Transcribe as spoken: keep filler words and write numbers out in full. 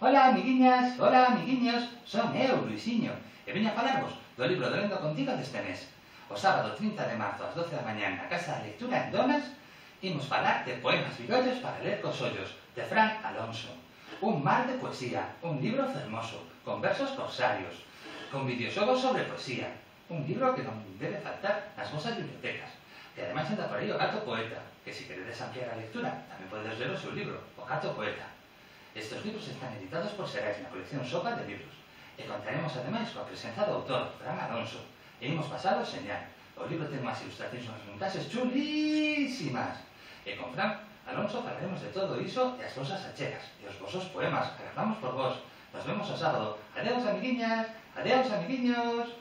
Ola, amiguiñas, ola, amiguiños, son eu, Luisiño, e veño a falarvos do libro do Lendo Contigo deste mes. O sábado trinta de marzo, ás doce da mañá, na Casa da Lectura en Donas, imos falar de Poemas Virollos para ler cos ollos, de Fran Alonso. Un mar de poesía, un libro fermoso, con versos corsarios, con videoxogos sobre poesía. Un libro que non debe faltar nas vosas bibliotecas. Que ademais anda por aí o Gato Poeta, que se queredes ampliar a lectura, tamén podedes ler o seu libro, O Gato Poeta. Estes libros están editados por Serais na colección Sopa de Libros. E contaremos ademais coa presenza do autor, Fran Alonso. E imos pasado señal. O libro ten unhas ilustracións e unhas montaxes chulísimas. E con Fran Alonso falaremos de todo iso e as vosas achegas, e os vosos poemas, que agardamos por vos. Nos vemos o sábado. Adeus, amiguiñas. Adeus, amiguiños.